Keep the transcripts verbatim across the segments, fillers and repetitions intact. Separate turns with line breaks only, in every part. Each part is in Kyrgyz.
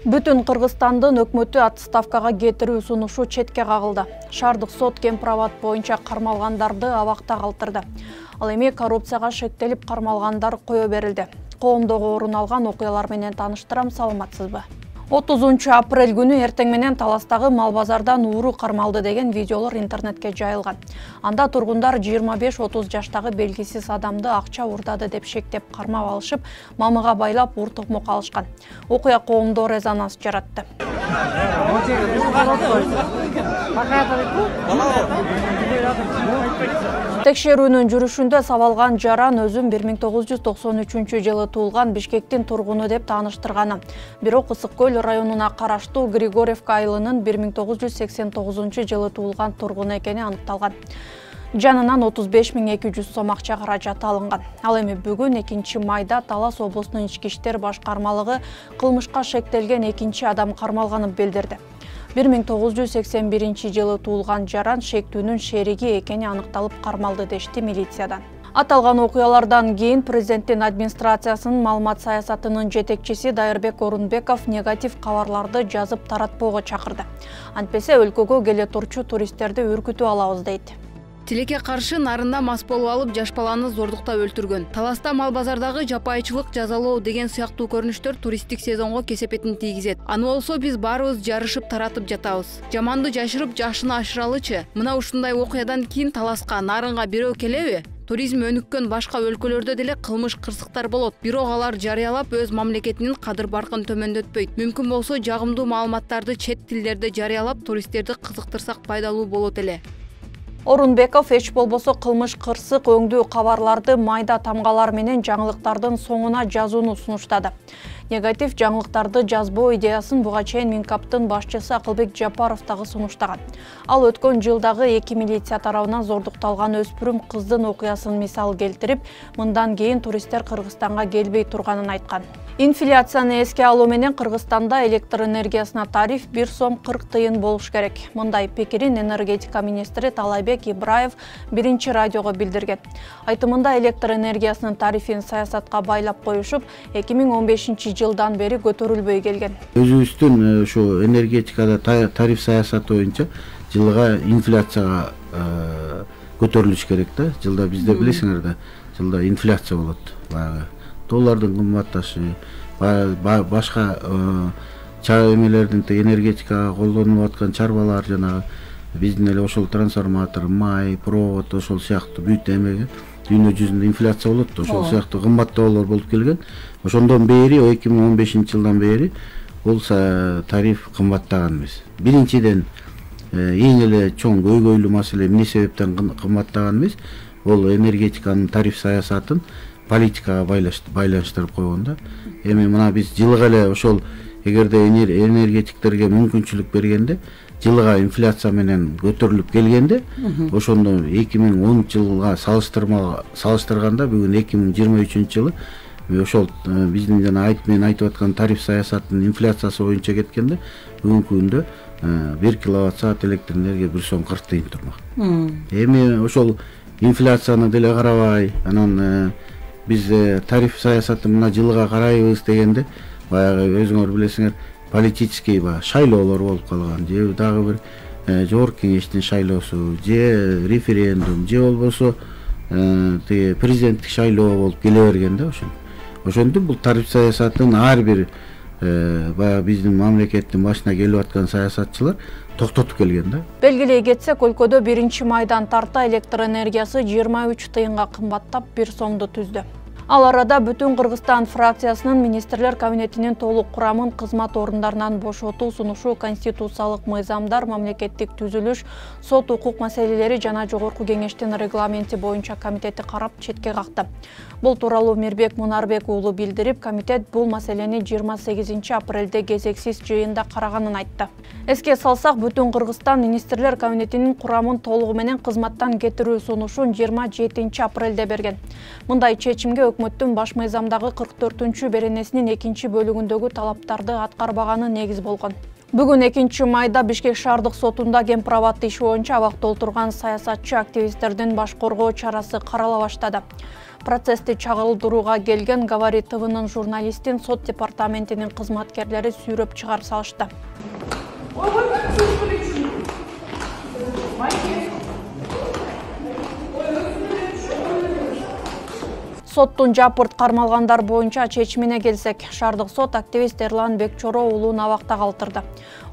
Бүтүн Кыргызстандын өкмөтү отставкага кетирүү сунушу четке кагылды. Шаардык сот кемпирабад боюнча кармалгандарды абакта калтырды. Ал эми коррупцияга шектелип кармалгандар кое берилди. Коомдогу орун алган окуялар менен тааныштырам, саламатсызбы? отузунчу апрель күнү эртең менен Таластагы мал базардан ууру кармалды деген видеолор интернетке жайылган. Анда тургундар жыйырма беш отуз жаштагы белгисиз адамды акча уурдады деп шектеп кармап алышып, мамыга байлап ур токмок алышкан. Окуя коомдо резонанс жаратты. Текшерүүнүн жүрүшүндө сабалган жаран өзүн бир миң тогуз жүз токсон үчүнчү жылы туулган Бишкектин тургуну деп тааныштырганы. Бирок Ысык көл районуна караштуу Григорьевка айылынын бир миң тогуз жүз сексен тогузунчу жылы туулган тургуну экени аныкталган. Жанынан отуз беш миң эки жүз сом акча каражаты алынган. Ал эми бүгүн экинчи майда Талас облустунун ички иштер башкармалыгы кылмышка шектелген экинчи адам кармалганын билдирди. бир миң тогуз жүз сексен биринчи жылы туулган жаран шектүүнүн шериги экени аныкталып кармалды дешти милициядан. Аталган окуялардан кийин президенттин администрациясынын маалымат саясатынын жетекчиси Дайырбек Орунбеков негатив кабарларды жазып таратпоого чакырды. Антпесе өлкөгө келе турчу туристтерди үркүтүп алабыз дейт.
Тилекке каршы нарында мас болуп алып жаш баланы зордуктап өлтүргөн. Таласта мал базардагы жапайычылык жазалоо деген сыяктуу көрүнүштөр туристтик сезонго кесепетин тийгизет. Аны болсо биз баарыбыз жарышып таратып жатабыз. Жаманды жашырып жакшыны ашыралычы? Мына ушундай окуядан кийин Таласка, Нарынга бирөө келеби? Туризм өнүккөн башка өлкөлөрдө деле кылмыш кырсыктар болот. Бирок алар жарыялап өз мамлекетинин кадыр-баркын төмөндөтпөйт. Мүмкүн болсо жагымдуу маалыматтарды чет тилдерде жарыялап туристтерди кызыктырсак пайдалуу болот эле.
Орунбеков эч болбосо кылмыш кырсык өңдүү кабарларды майда тамгалар менен жаңылыктардын соңуна жазууну сунуштады. Негатив жаңылыктарды жазбоо идеясын буга чейин Минкаптын башчысы Акылбек Жапаров дагы сунуштаган. Ал өткөн жылдагы эки милиция тарабынан зордукталган өспүрүм кыздын окуясын мисал келтирип, мындан кийин туристтер Кыргызстанга келбей турганын айткан. Инфляцияны эске алуу менен Кыргызстанда электр энергиясына тариф бир сом кырк тыйын болуш керек. Мындай пикирин энергетика министри Талайбек Ибраев биринчи радиого билдирген. Айтымында электр энергиясынын тарифин саясатка байлап коюшуп, эки миң он бешинчи жылдан бери көтөрүлбөй келген.
Өзүбүздүн ушу энергетикада тариф саясаты боюнча жылга инфляцияга көтөрүлүш керек да. Жылда бизде билесиңер да, жылда инфляция болот. Баягы доллардын кымбатташы, башка чаа эмелердин энергетикага колдонулуп аткан чарбалар, жанагы биздин эле ошол трансформатор, май, провод, ошол сыяктуу бүт эмеге дүйнө жүзүндө инфляция болот да, ошол сыяктуу кымбаттоолор болуп келген. Ошондон бери, эки миң он бешинчи жылдан бери бул тариф кымбаттаган эмес. Биринчиден эң эле чоң көйгөйлүү маселе эмне себептен кымбаттаган эмес? Бул энергетиканын тариф саясатын политикага байланыштырып койгон да. Эми мына биз жылга эле ошол эгерде энергетиктерге мүмкүнчүлүк бергенде, жылга инфляция менен көтөрүлүп келгенде, ошондо эки миң онунчу жылга салыштырганда бүгүн эки миң жыйырма үчүнчү жылы ошол биздин жана айтып мен айтып аткан тариф саясатынын инфляциясы боюнча кеткенде, бүгүнкү күндө бир киловатт саат электр энергия бир сом кырк тыйын турмак. Эми ошол инфляцияны деле карабай, анан биз тариф саясатын мына жылга карайбыз дегенде, баягы өзүңөр билесиңер, политический шайлоолор болуп калган, же дагы бир жогорку кеңештин шайлоосу, же референдум, же болбосо тиги президенттик шайлоо болуп келе берген да ошон. Ошондо бул тариф саясатын ар бир баягы биздин мамлекеттин башына келип аткан саясатчылар токтотуп келген да.
Белгилей кетсек, өлкөдө биринчи майдан тарта электр энергиясы жыйырма үч тыйынга кымбаттап бир сомду түздү. Ал арада Бүтүн Кыргызстан фракциясынын министрлер кабинетинин толук курамын кызмат орундарынан бошотуу сунушу конституциялык мыйзамдар, мамлекеттик түзүлүш, сот укук маселелери жана жогорку кеңештин регламенти боюнча комитети карап четке какты. Бул тууралуу Мирбек Мунарбек уулу билдирип, комитет бул маселени жыйырма сегизинчи апрелде кезексиз жыйында караганын айтты. Эске салсак, Бүтүн Кыргызстан министрлер кабинетинин курамын толугу менен кызматтан кетирүү сунушун жыйырма жетинчи апрелде берген. Мындай чечимге өкмөттүн баш мыйзамдагы кырк төртүнчү беренесинин экинчи бөлүгүндөгү талаптарды аткарбаганы негиз болгон. Бүгүн экинчи майда Бишкек шаардык сотунда кемпирабад иши боюнча абакта отурган саясатчы активисттердин баш коргоо чарасы карала баштады. Процессти чагылдырууга келген Говорит ТВнын журналистин сот департаментинин кызматкерлери сүйрөп чыгарып салышты. Соттун жапырт кармалгандар боюнча чечимине келсек, шаардык сот активист Эрлан Бекчоро уулун абакта калтырды.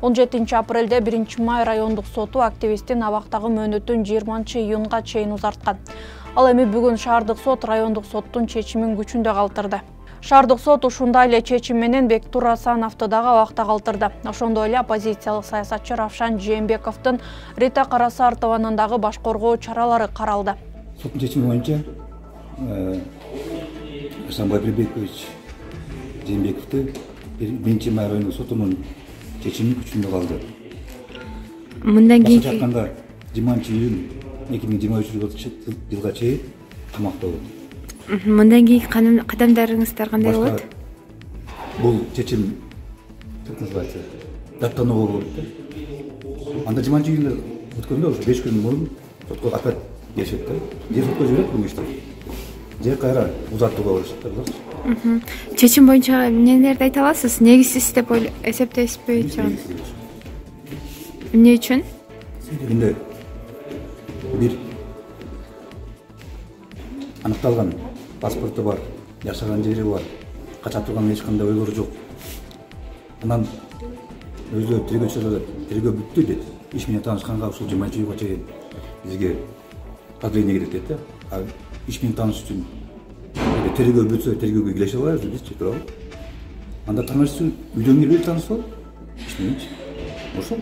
он жетинчи апрелде биринчи май райондук соту активисттин абактагы мөөнөтүн жыйырманчы июнга чейин узарткан. Ал эми бүгүн шаардык сот райондук соттун чечимин күчүндө калтырды. Шаардык сот ушундай эле чечим менен Бектур Асановду дагы абакта калтырды. Ошондой эле оппозициялык саясатчы Равшан Жээнбековдун Рита Карасартованын дагы баш коргоо чаралары каралды.
Соттун чечими боюнча Асанбай Прибекович Жээнбековду биринчи май райондук сотунун чечими күчүндө калды.
Мындан кийинки
айтканда жыйырманчы июнь эки миң жыйырма үчүнчү жылга чейин камакта болот.
Мындан кийинки кадамдарыңыздар кандай болот?
Бул чечим как называется? Даттануу болот да. Анда жыйырманчы июнда өткөндө ошо беш күн мурун сотко опять келишет да. Же сотко жиберет бул ишти. Же кайра узартууга барышат да.
Чечим боюнча эмнелерди айта аласыз? Негизсиз деп эсептейсизби? Эмне үчүн?
Эми бир аныкталган паспорту бар, жашаган жери бар, качап турган эч кандай ойлору жок. Анан өзү тергөөчүлөр тергөө бүттү дейт. Иш менен таанышканга ушул жыйырманчы июнга чейин бизге продление керек дейт да. А иш менен тааныш үчүн тергөө бүтсө тергөөгө келише алабыз бизчи, туурабы? Анда тааныш үчүн үйдөн кирип таанышсак, иш мененчи. Ошол.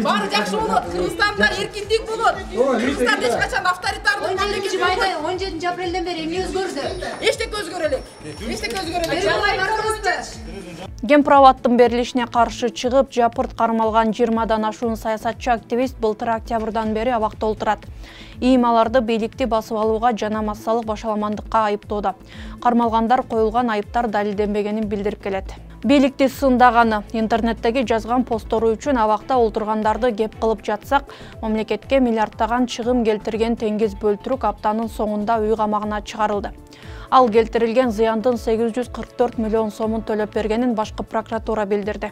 Баары жакшы болот. Кыргызстанда эркиндик болот. Кыргызстан эч качан авторитардык мамлекет болбойт.
он жетинчи апрелден бери эмне өзгөрдү?
Эчтеке өзгөрө элек. Эчтеке өзгөрө элек.
Гемправаттын берилишине каршы чыгып, жапырт кармалган жыйырмадан ашуун саясатчы активист былтыр октябрдан бери абакта отурат. Ийим аларды бийликти басып алууга жана массалык башаламандыкка айыптоодо. Кармалгандар коюлган айыптар далилденбегенин билдирип келет. Бийликти сындаганы, интернеттеги жазган посттору үчүн абакта олтургандарды кеп кылып жатсак, мамлекетке миллиардтаган чыгым келтирген Теңиз Бөлтүрүк аптанын соңунда үй камагына чыгарылды. Ал келтирилген зыяндын сегиз жүз кырк төрт миллион сомун төлөп бергенин башкы прокуратура билдирди.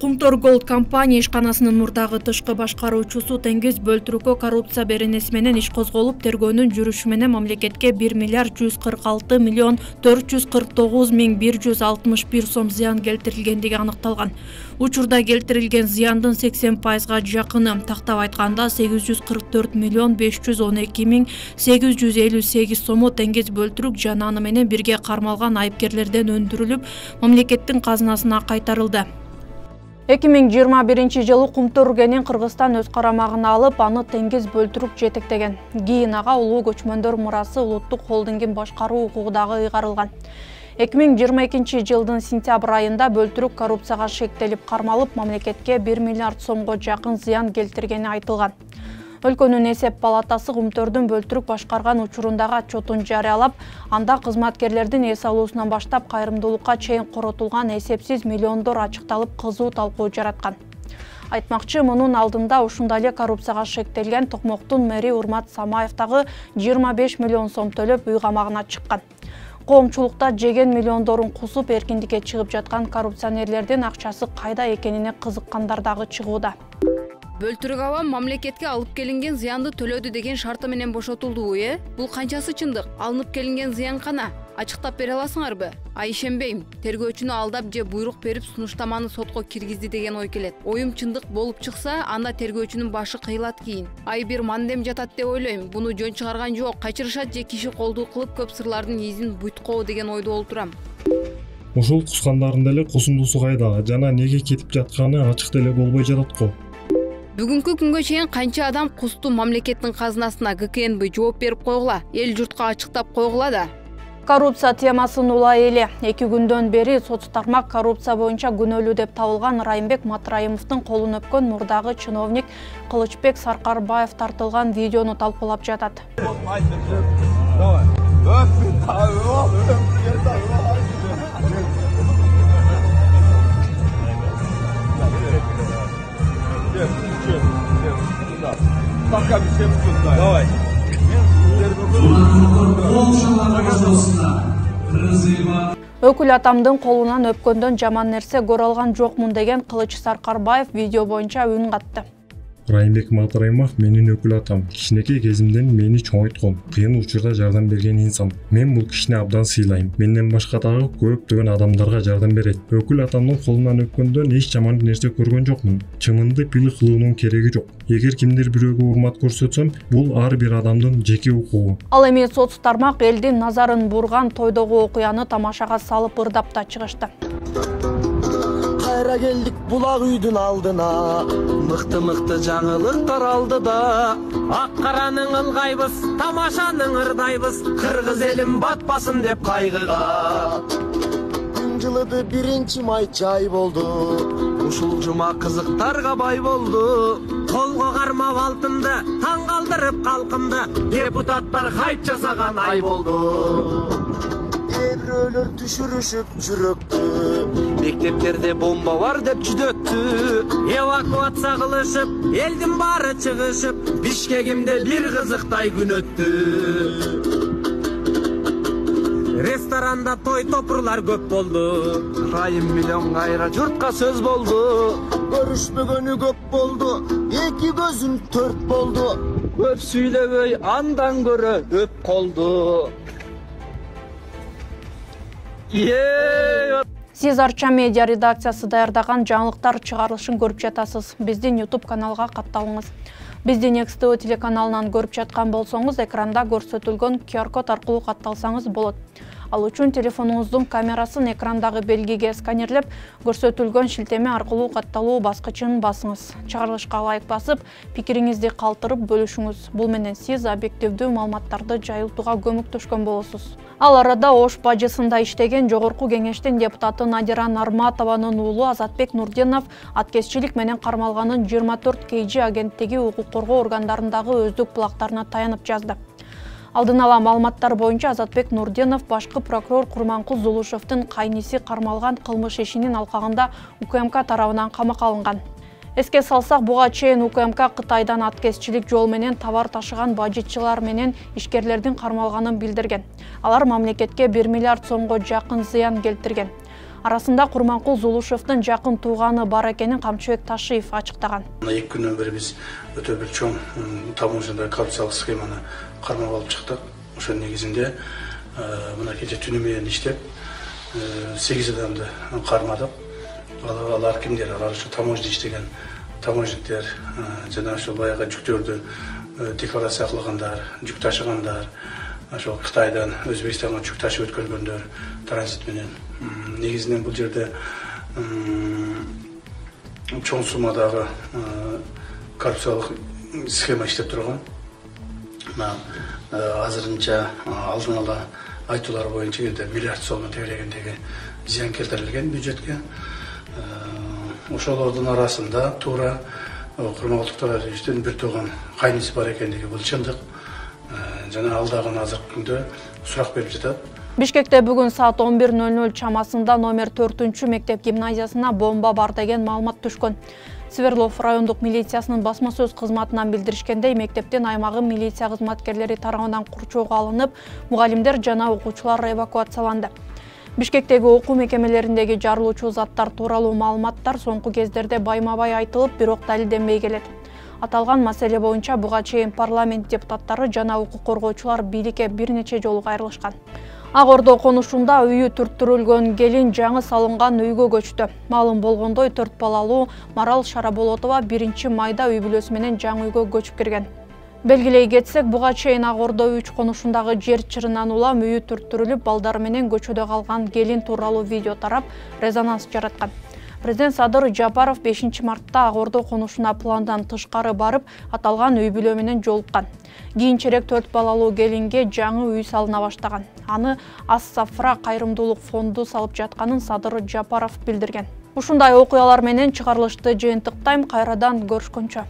Кумтор Голд компания ишканасынын мурдагы тышкы башкаруучусу Теңиз Бөлтүрүккө коррупция беренеси менен иш козголуп, тергөөнүн жүрүшү менен мамлекетке бир миллиард жүз кырк алты миллион төрт жүз кырк тогуз миң бир жүз алтымыш бир сом зыян келтирилгендиги аныкталган. Учурда келтирилген зыяндын сексен пайызга жакыны, тактап айтканда сегиз жүз кырк төрт миллион беш жүз он эки миң сегиз жүз элүү сегиз сому Теңиз Бөлтүрүк жана аны менен бирге кармалган айыпкерлерден өндүрүлүп, мамлекеттин казынасына кайтарылды. эки миң жыйырма биринчи жылы Кумтор Үргенин Кыргызстан өз карамагына алып, аны Теңиз Бөлтүрүк жетектеген. Кийин ага улуу көчмөндөр мурасы улуттук холдингин башкаруу укугу дагы ыйгарылган. эки миң жыйырма экинчи жылдын сентябрь айында Бөлтүрүк коррупцияга шектелип кармалып, мамлекетке бир миллиард сомго жакын зыян келтиргени айтылган. Өлкөнүн эсеп палатасы Кумтордун Бөлтүрүк башкарган учурундагы отчетун жарыялап, анда кызматкерлердин эс алуусунан баштап кайрымдуулукка чейин коротулган эсепсиз миллиондор ачыкталып, кызуу талкуу жараткан. Айтмакчы, мунун алдында ушундай эле коррупцияга шектелген Токмоктун мэри Урмат Самаев дагы жыйырма беш миллион сом төлөп үй камагына чыккан. Коомчулукта жеген миллиондорун кусуп эркиндикке чыгып жаткан коррупционерлердин акчасы кайда экенине кызыккандар дагы чыгууда.
Бөлтүрүк авам мамлекетке алып келинген зыянды төлөдү деген шарты менен бошотулдубу, э? Бул канчасы чындык? Алынып келинген зыян кана? Ачыктап бере аласыңарбы? А ишенбейм. Тергөөчүнү алдап же буйрук берип сунуштаманы сотко киргизди деген ой келет. Оюм чындык болуп чыкса, анда тергөөчүнүн башы кыйылат кийин. Ай бир мандем жатат деп ойлойм. Буну жөн чыгарган жок. Качырышат же киши колдуу кылып көп сырлардын изин буйткоо деген ойдо олтурам.
Ушул кускандардын деле кусундусу кайда жана неге кетип жатканы ачык деле болбой жатат го.
Бүгүнкү күнгө чейин канча адам кусту мамлекеттин казынасына гэ ка эн бэ жооп берип койгула, эл журтка ачыктап койгула да.
Коррупция темасын улай эле эки күндөн бери соц тармак коррупция боюнча күнөөлүү деп табылган Райымбек Матраимовдун колун өпкөн мурдагы чиновник Кылычбек Саркарбаев тартылган видеону талкуулап жатат.
Пока все давай.
Өкүл атамдын колунан өпкөндөн жаман нерсе көрө алган жокмун деген Кылыч Саркарбаев видео боюнча үн катты.
Райымбек Матраимов менин өкүл атам. Кичинекей кезимден мени чоңойткон, кыйын учурда жардам берген инсан. Мен бул кишини абдан сыйлайм. Менден башка дагы көптөгөн адамдарга жардам берет. Өкүл атамдын колунан өпкөндөн эч жаман нерсе көргөн жокмун. Чымынды пил кылуунун кереги жок. Эгер кимдир бирөөгө урмат көрсөтсөм, бул ар бир адамдын жеке укугу.
Ал эми соц тармак элдин назарын бурган тойдогу окуяны тамашага салып ырдап да чыгышты.
Кайра келдик булак үйдүн алдына, мыкты-мыкты жаңылыктар алдыда. Ак каранын ылгайбыз, тамашанын ырдайбыз, кыргыз элим батпасын деп кайгыга. Күн жылыды биринчи май чай болду, ушул жума кызыктарга бай болду. Колго кармап алтынды, таң калтырып калкымды, депутаттар хайп жасаган ай болду. Бирөөлөр түшүрүшүп жүрөктү, мектептерде бомба бар деп жүдөттү. Эвакуация кылышып, элдин баары чыгышып, Бишкегимде бир кызыктай күн өттү. Ресторанда той топурлар көп болду, Райым миллион кайра журтка сөз болду. Көрүшпөгөнү көп болду, эки көзүм төрт болду. Көп сүйлөбөй андан көрө өп колду.
Сиз Арча медиа редакциясы даярдаган жаңылыктар чыгарылышын көрүп жатасыз. Биздин YouTube каналга катталыңыз. Бизди Next T V телеканалынан көрүп жаткан болсоңуз, экранда көрсөтүлгөн Q R код аркылуу катталсаңыз болот. Ал үчүн телефонуңуздун камерасын экрандагы белгиге сканерлеп, көрсөтүлгөн шилтеме аркылуу катталуу баскычын басыңыз. Чыгарылышка лайк басып, пикириңизди калтырып бөлүшүңүз. Бул менен сиз объективдүү маалыматтарды жайылтууга көмөктөшкөн болосуз. Ал арада Ош бажысында иштеген Жогорку Кеңештин депутаты Надира Нарматованын уулу Азатбек Нурдинов аткезчилик менен кармалганын жыйырма төрт К G агенттиги укук коргоо органдарындагы өздүк булактарына таянып жазды. Алдын ала маалыматтар боюнча Азатбек Нурдинов башкы прокурор Курманкул Зулушевдин кайниси кармалган кылмыш ишинин алкагында У К М К тарабынан камакка алынган. Эске салсак, буга чейин У К М К Кытайдан аткезчилик жол менен товар ташыган бажычылар менен ишкерлердин кармалганын билдирген. Алар мамлекетке бир миллиард сомго жакын зыян келтирген. Арасында Курманкул Зулушевдин жакын тууганы бар экенин Камчыбек Ташиев ачыктаган.
эки күндөн бери биз өтө бир чоң таможняда коррупциялык схеманы кармап алып чыктык. Ошонун негизинде мына кече түнү менен иштеп сегиз адамды кармадык. Алар кимдер? Алар ушу таможня иштеген таможниктер, жана ошол баягы жүктөрдү декларация кылгандар, жүк ташыгандар, ошол Кытайдан Өзбекстанга жүк ташып өткөргөндөр транзит менен. Негизинен бул жерде чоң суммадагы коррупциялык схема иштеп турган. Азырынча алдын ала айтуулар боюнча миллиард сомдон тегерегиндеги зыян келтирилген бюджетке. Ошолордун арасында туура Курманкул Тоraевичтин бир тууган кайниси бар экендиги бул чындык. Жана ал дагы азыркы күндө сурак берип жатат.
Бишкекте бүгүн саат он бир ноль ноль чамасында номер төртүнчү мектеп гимназиясына бомба бар деген маалымат түшкөн. Свердлов райондук милициясынын басма сөз кызматынан билдиришкендей, мектептин аймагы милиция кызматкерлери тарабынан курчоого алынып, мугалимдер жана окуучулар эвакуацияланды. Бишкектеги окуу мекемелериндеги жарылуучу заттар тууралуу маалыматтар соңку кездерде байма-бай айтылып, бирок далилденбей келет. Аталган маселе боюнча буга чейин парламент депутаттары жана укук коргоочулар бийликке бир нече жолу кайрылышкан. Ак Ордо конушунда үйү түрттүрүлгөн келин жаңы салынган үйгө көчтү. Маалым болгондой, төрт балалуу Марал Шараболотова биринчи майда үй бүлөсү менен жаңы үйгө көчүп кирген. Белгилей кетсек, буга чейин Ак Ордо үч конушундагы жер чырынан улам үйү түрттүрүлүп, балдары менен көчөдө калган келин тууралуу видео тарап, резонанс жараткан. Президент Садыр Жапаров бешинчи мартта Ак Ордо конушуна пландан тышкары барып, аталган үй бүлө менен жолуккан. Кийинчерээк төрт балалуу келинге жаңы үй салына баштаган. Аны Ас-Сафра кайрымдуулук фонду салып жатканын Садыр Жапаров билдирген. Ушундай окуялар менен чыгарылышты жыйынтыктайм, кайрадан көрүшкөнчө.